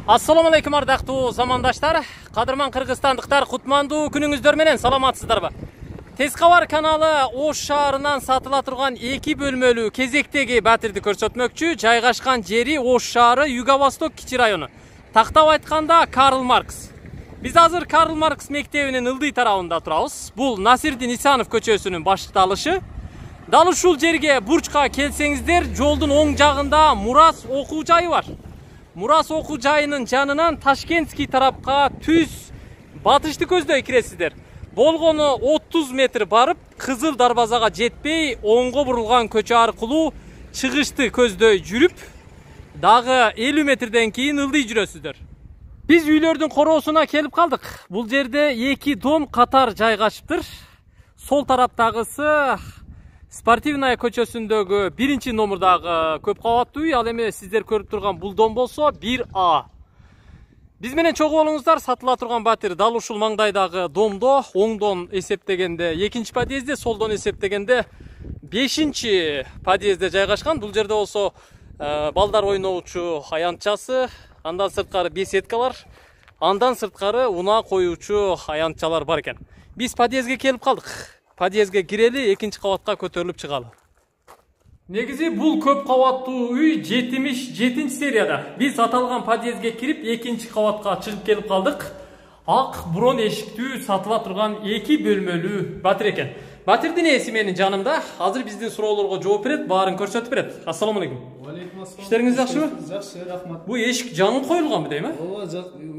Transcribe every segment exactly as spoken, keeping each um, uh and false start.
Assalamu alaikum ардактуу замандаштар, кадырман кыргызстандыктар, кутмандуу күнүңүздөр менен саламатсыздарбы? Тез кабар каналы Ош шаарынан сатыла турган эки бөлмөлүү кезектеги батирди көрсөтмөкчү. Жайгашкан жери Ош шаары, Юго-Восток кичи району. Тактап айтканда Карл Маркс. Биз азыр Карл Маркс мектебинин ылдый тарабында турабыз. Бул Насирдин Исанов көчөсүнүн башталышы. Дал ушул жерге бурчка келсеңиздер, жолдун оң жагында Мурас окуу жайы бар. Мурас окуу жайынын жанынан Ташкентский тарапка түз батышты көздөй киресиздер. Болгону отуз метр барып, Кызыл дарбазага жетпей, оңго бурулган көчө аркылуу чыгышты көздөй жүрүп, дагы элүү метрден кийин ылдый жүрөсүздөр. Биз үйлөрдүн короосуна келип калдык. Бул жерде эки дом катар жайгашыптыр. Сол тараптагысы Спортивная көчөсүндөгү биринчи номурдагы көп кабаттуу үй, ал эми сиздер көрүп турган бул дом болсо бир А. Биз менен чогуу болуңуздар, сатыла турган батир дал ушул маңдайдагы домдо, оңдон эсептегенде экинчи подъездде, солдон эсептегенде бешинчи подъездде жайгашкан. Бул жерде болсо балдар ойноочу аянтчасы, андан сырткары беседкалар, андан сырткары унаа коюучу аянтчалар бар экен. Биз подъездге келип калдык. Подъездге кирели, экинчи кабатка көтөрүлүп чыгалы. Негизи бул көп кабаттуу үй жетимиш жетинчи серияда. Биз аталган подъездге кирип, экинчи кабатка чыгып келип калдык. Ак бурон эшиктүү сатыла турган эки бөлмөлүү батир экен. Батирдин ээси менин жанымда. Азыр биздин суроолорго жооп берет, баарын көрсөтүп берет. Ассаламу алейкум. Алейкум ассалам. Иштериңиз жакшыбы? Жакшы, рахмат. Бул эшик жаңы коюлганбы дейм, э? Ооба,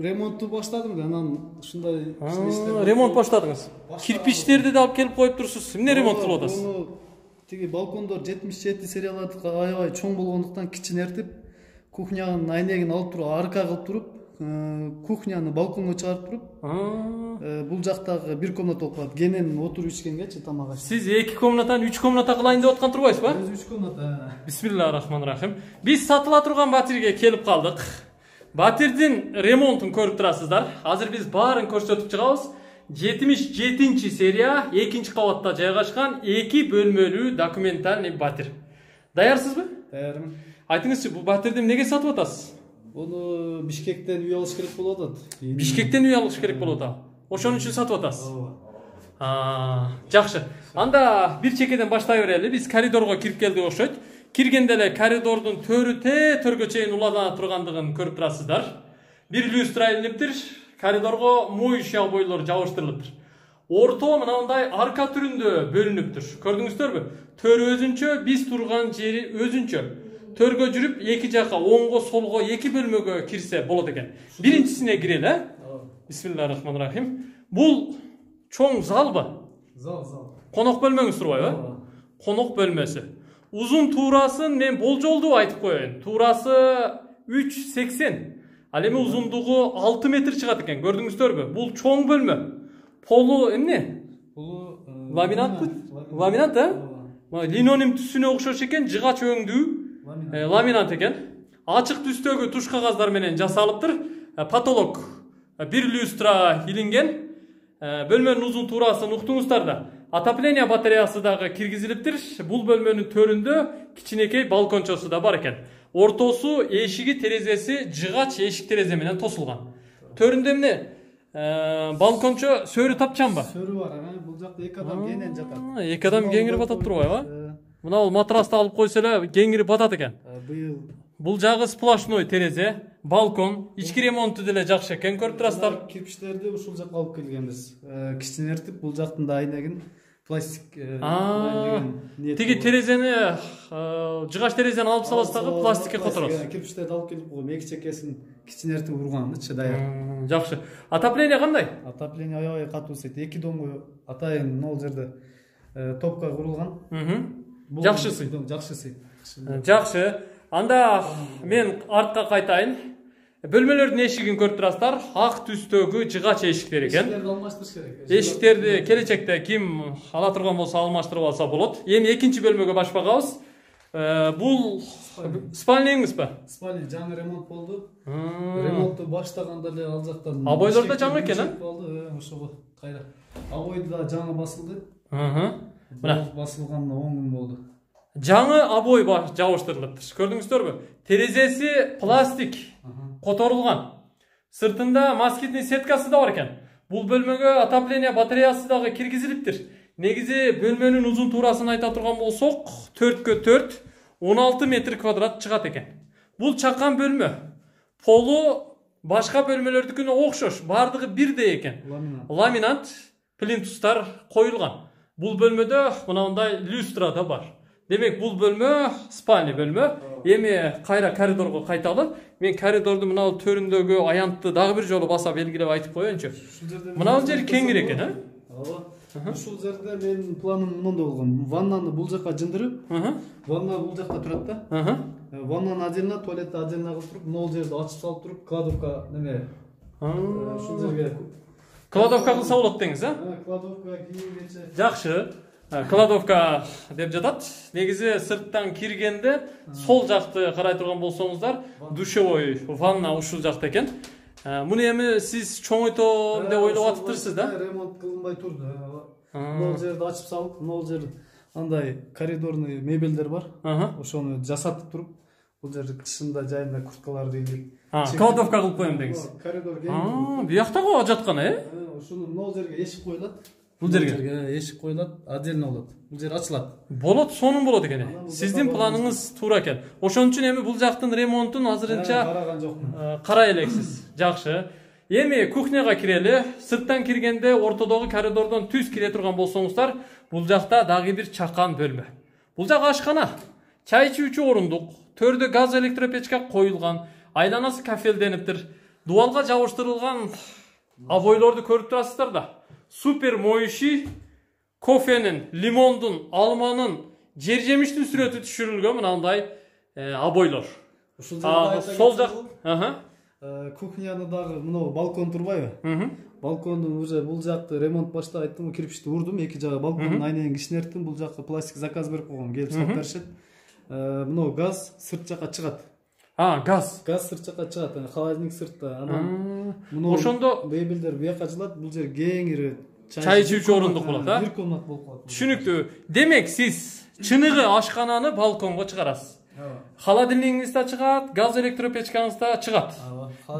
ремонтту баштадым да, анан ушундай иштер. Ремонт баштадыңыз. Кирпичтерди да алып келип коюп турсуз. Эмне ремонт кылып атасыз? Тиги балкондор жетимиш жети серияларды аябай чоң болгондуктан кичинертип, кухнянын айнегин алып туруп, арка кылып туруп, кухняны балконго чыгарып туруп, бул жактагы бир комната болуп калат. Кенен отуруп ичкенгечи тамак аш. Сиз эки комнатаны үч комната кылайын деп аткан турбайсызбы? Өзү үч комната. Бисмиллахир-рахманир-рахим. Биз сатыла турган батирге келип калдык. Батирдин ремонтун көрүп турасыздар. Азыр биз баарын көрсөтүп чыгабыз. жетимиш жетинчи серия, экинчи кабатта жайгашкан эки бөлмөлүү документальный батир. Даярсызбы? Даярмын. Айтыңызчы, бул батирди эмнеге сатып атасыз? Буну Бишкектен үй алыш керек болуп атат. Бишкектен үй алыш керек болуп атат. Ошон үчүн сатып атасыз. Ооба. Жакшы. Анда бир чекеден баштай берели. Биз коридорго кирип келдик окшойт. Киргенде эле коридордун төрү те төргө чейин улана тургандыгын көрүп турасыздар. Бир люстра илиниптир. Коридорго моющий бойлор жабыштырылыптыр. Орто мынандай арка түрүндө бөлүнүптүр. Көрдүңүздөрбү? Төрү өзүнчө, биз турган жери өзүнчө. Төргө жүрүп, эки жака оңго, солго эки бөлмөгө кирсе болот экен. Биринчисине кирели, э? Бисмиллахир-рахманир-рахим. Бул чоң залбы? Зал, зал. Конок бөлмөңүз турбайбы? Конок бөлмөсү. Узун туурасын мен болжолдуу айтып коеюн. Туурасы үч сексен. Ал эми узундугу алты метр чыгат экен. Көрдүңүздөрбү? Бул чоң бөлмө. Полу эмне? Полу ламинатпы? Ламинат, э? Линоним түсүнө окшош экен, жыгач өңдүү ламинат экен. Ачык түстөгү туш кагаздар менен жасалыптыр. Потолок бир люстра илинген. Бөлмөнүн узун туурасын уктуңуздар да. Отопление батареясы дагы киргизилиптир. Бул бөлмөнүн төрүндө кичинекей балкончосу да бар экен. Ортосу эшиги терезеси жыгач эшик терезе менен тосулган. Төрүндө эмне? Балкончо сөрү тапчанбы? Сөрү бар, бул жакта эки адам кенен жатат. Эки адам кеңири батат турбайбы? Мына бул матрасты алып койсо эле кеңири батат экен. Быйыл бул жагы сплошной терезе, балкон, ички ремонту деле жакшы экен, көрүп турасыздар. Кирпичтерди ушул жакка алып келгенбиз. Кичинертип бул жактын да айнегин пластик тиги терезени, жыгач терезени алып саласыз дагы пластикке которосуз. Кирпичтерди алып келип койгом, эки чекесин кичинертип урганчы даяр. Жакшы. Отопление кандай? Отопление аябай катуу сет. Эки домго атайын могул жерде топка курулган. Жакшысы. Жакшысы. Жакшы. Анда мен артка кайтайын. Бөлмөлөрдүн эшигин көрүп турасыздар. Ак түстөгү жыгач эшиктер экен. Эшиктерди алмаштырыш керек. Эшиктерди келечекте ким ала турган болсо алмаштырып алса болот. Эми экинчи бөлмөгө баш багабыз. Бул спальняңызбы? Спальня жаңы ремонт болду. Ремонтту баштаганда эле ал жактан. Абойлор да жаңы экен, а? Болду, ошого кайра. Абой да жаңы басылды. Мына басылган он күн болду. жаңы обой жабыштырылыптыр. Көрдүңүздөрбү? Терезеси пластик которулган. Сыртында москитный сеткасы да бар экен. Бул бөлмөгө отопление батареясы дагы киргизилиптир. Негизи бөлмөнүн узун туурасын айта турган болсок, төрткө төрт он алты метр квадрат чыгат экен. Бул чакан бөлмө. Полу башка бөлмөлөрдүкүнө окшош, бардыгы бирдей экен. Ламинат плинтустар коюлган. Бул бөлмөдө мынандай люстра да бар. Демек, бул бөлмө спальный бөлмө. Эми кайра коридорго кайталы. Мен коридорду мына төрүндөгү аянтты дагы бир жолу баса белгилеп айтып коеюнчу. Мына бул жер кеңири экен, а? Ооба. Ушул жерде менин планым мындай болгон. Ваннаны бул жакка жындырып, ванна бул жакта турат да. Ваннаны отдельно, туалетти отдельно кылып туруп, могул жерди ачып салып туруп, кладовка неме. Ушул жерге кладовка кылса болот деңиз, а? Кладовка кийимгече. Жакшы. Кладовка деп жатат. Негизи сырттан киргенде сол жакты карай турган болсоңуздар, душевой ванна ушул жакта экен. Муну эми сиз чоңойтом деп ойлоп атыптырсыз да? Ремонт кылынбай турду. Могул жерди ачып салып, могул жер андай коридорный мебелдер бар. Ошону жасатып туруп, бул жерде кышында жайында курткаларды илип, кладовка кылып коем деңиз. Коридор кең. Буякта го жаткан, э? Ушуну могул жерге эшик коюлат. Бул жерге эшик коюлат, отдельно болот. Бул жер ачылат. Болот, сонун болот экен. Сиздин планыңыз туура экен. Ошон үчүн эми бул жактын ремонтун азырынча караган жокмун. Карай элексиз. Жакшы. Эми кухняга кирели. Сырттан киргенде ортодогу коридордон түз кире турган болсоңуздар, бул жакта дагы бир чакан бөлмө. Бул жак ашкана. Чай ичүүчү орундук, төрдө газ электропечка коюлган, айланасы кафелдениптир. Дубалга жабыштырылган обойлорду көрүп турасыздар да. Супер моющий, кофенин, лимондун, алманын, жер жемиштин сүрөтү түшүрүлгөн мынандай обойлор. Сол жак, кухняны дагы мына балкон турбайбы? Балкондун уже бул жакты ремонт башта айттым, кирпичти урдум, эки жагы балкондун айнегин кичинерттим, бул жакка пластик заказ берип койгом, келип салып беришет. Мына газ сырт жакка чыгат. А, газ. Газ сырт жакка чыгат, холодильник сыртта. Анан ошондо мебелдер буяка жылат, бул жер кеңири чай ичүүчү орундук болот, а? Бир комнат болуп калат. Түшүнүктүү. Демек, сиз чыныгы ашкананы балконго чыгарасыз. Холодильнигиңиз да чыгат, газ электропечкаңыз да чыгат.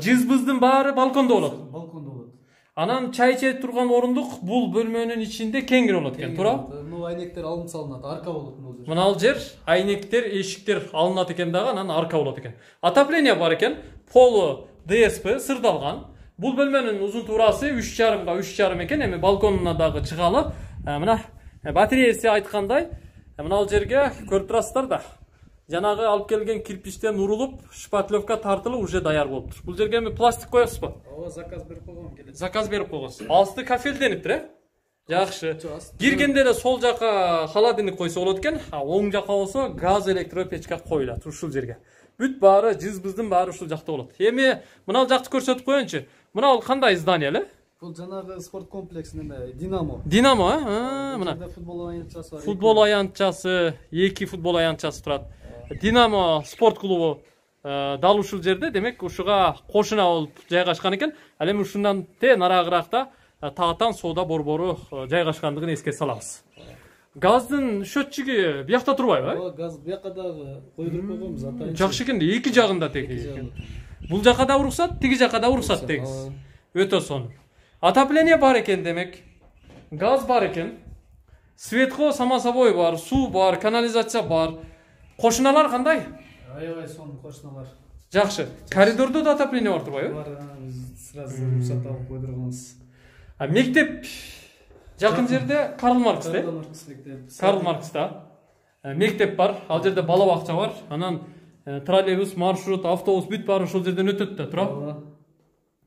Жыз-быздын баары балкондо болот. Балкондо болот. Анан чай иче турган орундук бул бөлмөнүн ичинде кеңири болот экен, туурабы? Мына айнектер алынып салынат, арка болот бул жер. Мына ал жер айнектер, эшиктер алынат экен дагы, анан арка болот экен. Отопление бар экен, полу дэ эс пэ сырдалган. Бул бөлмөнүн узун туурасы үч жарымга үч жарым экен, эми балконуна дагы чыгалы. Мына батареясы айткандай, мына ал жерге көрүп турасыздар да. Жанагы алып келген кирпичтен урулуп, шпатлевка тартылып уже даяр болуптур. Бул жерге эми пластик коесузбу? Ооба, заказ берип койгом келет. Заказ берип койгонсуз. Асты кафелдениптир, э? Жакшы. Киргенде эле сол жака холодильник койсо болот экен, а оң жака болсо газ электропечка коюлат ушул жерге. Бүт баары, жыз-быздын баары ушул жакта болот. Эми мына жакты көрсөтүп коеюнчу. Мына бул кандай здание эле? Бул жанагы спорт комплекс неме, Динамо. Динамо, э? Мына футбол аянтчасы бар. Футбол аянтчасы, эки футбол аянтчасы турат. Динамо спорт клубу дал ушул жерде, демек ушуга кошуна болуп жайгашкан экен. Ал эми ушундан те нарагыракта Таатан соода борбору жайгашкандыгын эске салабыз. Газдын счетчиги биякта турбайбы? Ооба, газ бияка дагы койдуруп койгонбуз, атайын. Жакшы экен, эки жагында теги. Бул жака да уруксат, тиги жака да уруксат деңиз. Өтө сонун. Отопление бар экен демек. Газ бар экен. Светко само собой бар, суу бар, канализация бар. Кошуналар кандай? Аябай сонун кошуналар. Жакшы. Коридордо да отопление бар турбайбы? Бар, сразу рұқсат алып койдурганбыз. А мектеп жакын жерде Карл Маркс да? Карл Маркс мектеп. Карл Маркс да. Мектеп бар, ал жерде бала бакча бар. Анан троллейбус, маршрут, автобус бүт баары ошол жерден өтөт да, туурабы?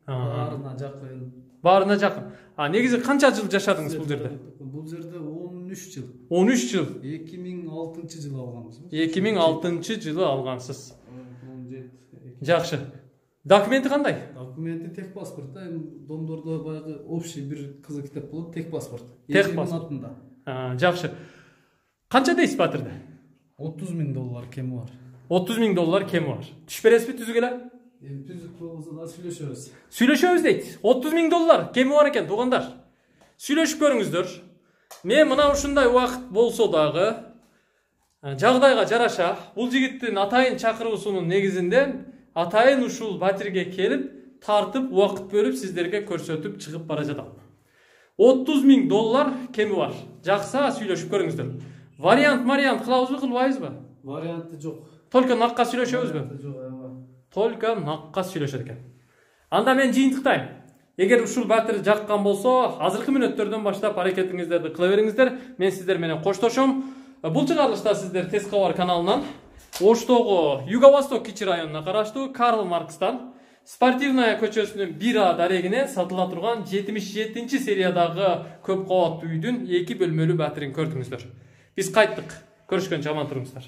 Баарына жакын. Баарына жакын. А негизи канча жыл жашадыңыз бул жерде? Бул жерде он үч жыл. он үч жыл. эки миң алтынчы жылы алганбыз. эки миң алтынчы жылы алгансыз. Жакшы. Документи кандай? Документи тех паспорт да, домдордо баягы общий бир кызыл китеп болот, тех паспорт. Тех паспорт. Жакшы. Канча дейсиз батырды? отуз миң доллар кеми бар. отуз миң доллар кеми бар. Түш бересизби түзүк эле? Эми түзүк болбосо да сүйлөшөбүз. Сүйлөшөбүз дейт. отуз миң доллар кеми бар экен, туугандар. Сүйлөшүп көрүңүздөр. Мен мына ушундай убакыт болсо дагы Жагдайга жараша бул жигиттин атайын чакыруусунун негизинде атайын ушул батирге келип тартып убакыт бөлүп сиздерге көрсөтүп чыгып бара жатам. отуз миң доллар кеми бар. Жакса сүйлөшүп көрүңүздөр. Вариант вариант кылабызбы, кылбайбызбы? Варианты жок. Только накка сүйлөшөбүзбү? Жок, аябай. Только накка сүйлөшөт экен. Анда мен жыйынтыктайм. Эгер ушул батир жаккан болсо, азыркы мүнөттөрдөн баштап аракетиңиздерди кыла бериңиздер. Мен сиздер менен коштошом. Бул чыгарылышта сиздер Тез кабар каналынан Оштогу Юго-Восток кичи районуна караштуу Карл Маркстан Спортивная көчөсүнүн бир А дарегинен сатыла турган жетимиш жетинчи сериядагы көп кабаттуу үйдүн эки бөлмөлүү батирин көрдүңүздөр. Биз кайттык. Көрүшкөнчө аман туруңуздар.